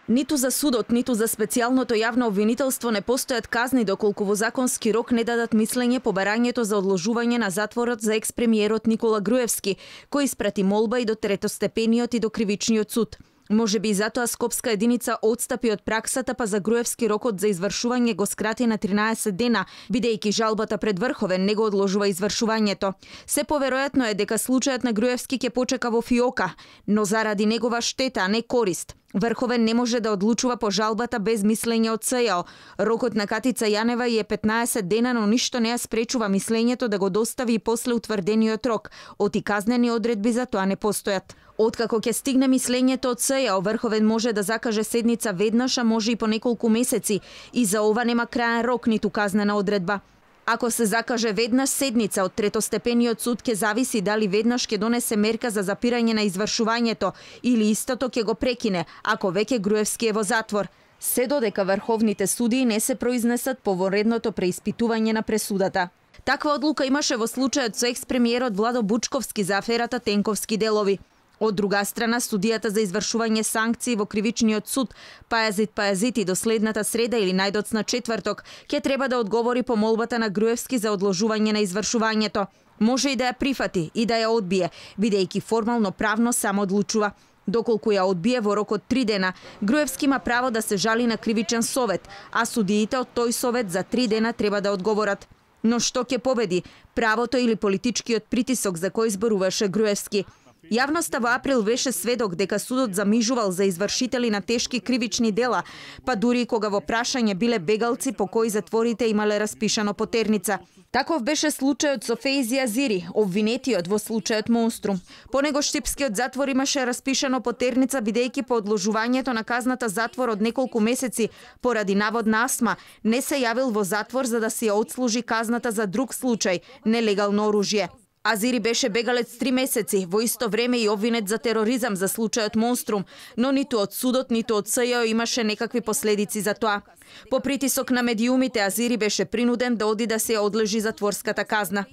Ниту за судот, ниту за специјалното јавно обвинителство не постојат казни доколку во законски рок не дадат мислење по барањето за одложување на затворот за екс-премиерот Никола Груевски, кој испрати молба и до третостепениот и до кривичниот суд. Може би и затоа Скопска единица отстапи од праксата, па за Груевски рокот за извршување го скрати на 13 дена, бидејќи жалбата пред Врховен не го одложува извршувањето. Се поверојатно е дека случајот на Груевски ќе почека во фиока, но заради негова штета, а не корист. Врховен не може да одлучува по жалбата без мислење од СЈО. Рокот на Катица Јанева е 15 дена, но ништо не ја спречува мислењето да го достави и после утврдениот рок. Оти казнени одредби за тоа не постојат. Откако ќе стигне мислењето од СЈО, Врховен може да закаже седница веднаш, а може и по неколку месеци. И за ова нема краен рок ниту казнена одредба. Ако се закаже веднаш седница од третостепениот суд, ќе зависи дали веднаш ќе донесе мерка за запирање на извршувањето или истото ќе го прекине, ако веќе Груевски е во затвор. Се додека врховните судии не се произнесат по воредното преиспитување на пресудата. Таква одлука имаше во случајот со екс-премиерот Владо Бучковски за аферата Тенковски делови. Од друга страна, студијата за извршување санкции во кривичниот суд Пајазит до следната среда или најдоцна четврток ќе треба да одговори по молбата на Груевски за одложување на извршувањето. Може и да ја прифати и да ја одбие, бидејќи формално правно само одлучува. Доколку ја одбие во рок од 3 дена, Груевски има право да се жали на кривичен совет, а судиите од тој совет за 3 дена треба да одговорат. Но што ќе победи, правото или политичкиот притисок за кој зборуваше Груевски? Јавноста во април беше сведок дека судот замижувал за извршители на тешки кривични дела, па дури кога во прашање биле бегалци по кои затворите имале распишано потерница. Таков беше случајот со Фејзи Азири, обвинетиот во случајот Монструм. По него штипскиот затвор имаше распишано потерница, бидејќи по одложувањето на казната затвор од неколку месеци поради наводна астма не се јавил во затвор за да си ја отслужи казната за друг случај – нелегално оружје. Азири беше бегалец 3 месеци, во исто време и обвинет за тероризам за случајот Монструм, но ниту од судот, ниту од СЈО имаше некакви последици за тоа. По притисок на медиумите, Азири беше принуден да оди да се одлежи затворската казна.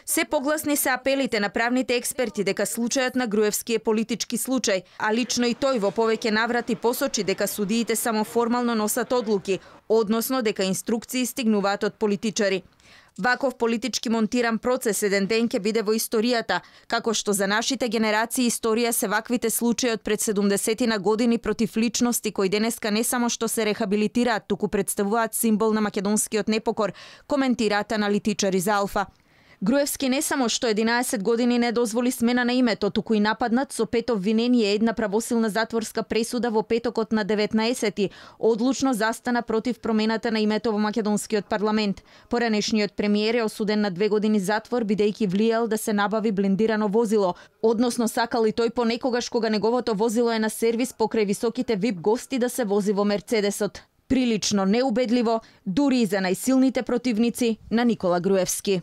Се погласни се апелите на правните експерти дека случајот на Груевски е политички случај, а лично и тој во повеќе наврати посочи дека судиите само формално носат одлуки, односно дека инструкции стигнуваат од политичари. Ваков политички монтиран процес еден ден ќе биде во историјата, како што за нашите генерации историја се ваквите случаи од пред 70 години против личности кои денеска не само што се рехабилитираат, туку представуваат символ на македонскиот непокор, коментираат аналитичари за Алфа. Груевски не само што 11 години не дозволи смена на името, туку и нападнат со 5 обвинение една правосилна затворска пресуда во петокот на 19-ти, одлучно застана против промената на името во македонскиот парламент. Поранешниот премиер е осуден на 2 години затвор бидејќи влијал да се набави блендирано возило, односно сакал и тој понекогаш кога неговото возило е на сервис покрај високите VIP гости да се вози во Мерцедесот. Прилично неубедливо, дури и за најсилните противници на Никола Груевски.